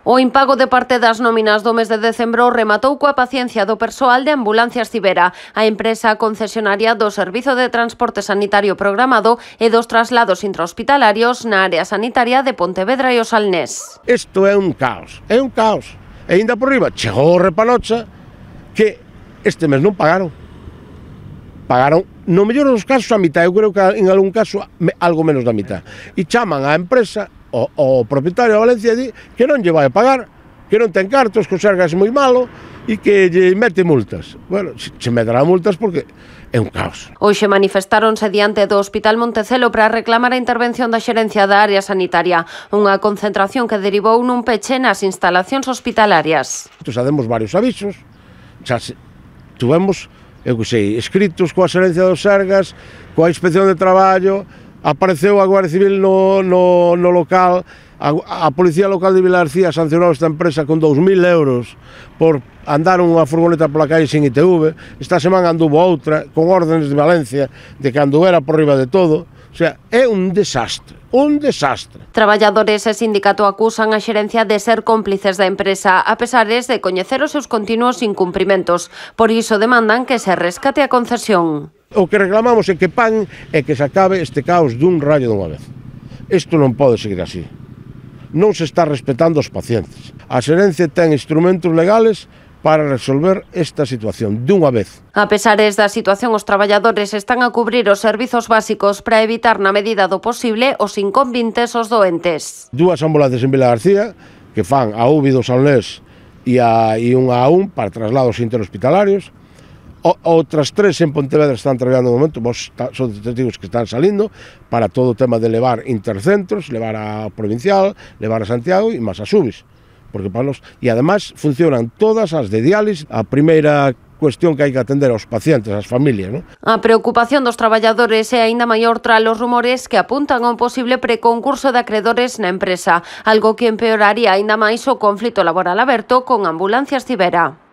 O impago de parte das nóminas do mes de decembro rematou coa paciencia do persoal de Ambulancias Cibera, a empresa concesionaria do Servizo de Transporte Sanitario Programado e dos traslados intrahospitalarios na área sanitaria de Pontevedra e o Salnés. Isto é un caos, é un caos. E ainda por riba chegou o repanocha que este mes non pagaron. Pagaron, no mellor dos casos, a mitad, eu creo que en algún caso algo menos da mitad. E chaman á empresa, o propietario de Valencia di que non lle vai a pagar, que non ten cartos, que o Sergas é moi malo e que lle mete multas. Bueno, se me dará multas porque é un caos. Hoxe manifestáronse diante do Hospital Montecelo para reclamar a intervención da xerencia da área sanitaria, unha concentración que derivou nun peche nas instalacións hospitalarias. Xa demos varios avisos, xa tuvemos, eu que sei, escritos coa xerencia dos Sergas, coa inspección de traballo, apareceu a Guardia Civil no local, a Policía Local de Vilarcía sancionou esta empresa con 2.000 euros por andar unha furgoneta pola calle sin ITV. Esta semana anduvo outra, con órdenes de Valencia, de que anduera por riba de todo. O sea, é un desastre, un desastre. Traballadores e sindicato acusan a xerencia de ser cómplices da empresa, a pesares de coñecer os seus continuos incumprimentos. Por iso demandan que se rescate a concesión. O que reclamamos é que paguen e que se acabe este caos dun rayo dunha vez. Isto non pode seguir así. Non se está respetando os pacientes. A xerencia ten instrumentos legales para resolver esta situación dunha vez. A pesares da situación, os traballadores están a cubrir os servizos básicos para evitar na medida do posible os inconvintes os doentes. Dúas ambulancias en Vila García que fan a UBI do Salnés e unha a un para traslados interhospitalarios. Outras tres en Pontevedra están traballando no momento, son testigos que están salindo para todo o tema de levar intercentros, levar a provincial, levar a Santiago e máis a Subis. Porque para nos, e ademais funcionan todas as de diálisis. A primeira cuestión que hai que atender aos pacientes, ás familias, non? A preocupación dos traballadores é aínda maior tras os rumores que apuntan a un posible preconcurso de acredores na empresa, algo que empeoraría aínda máis o conflito laboral aberto con Ambulancias Cibera.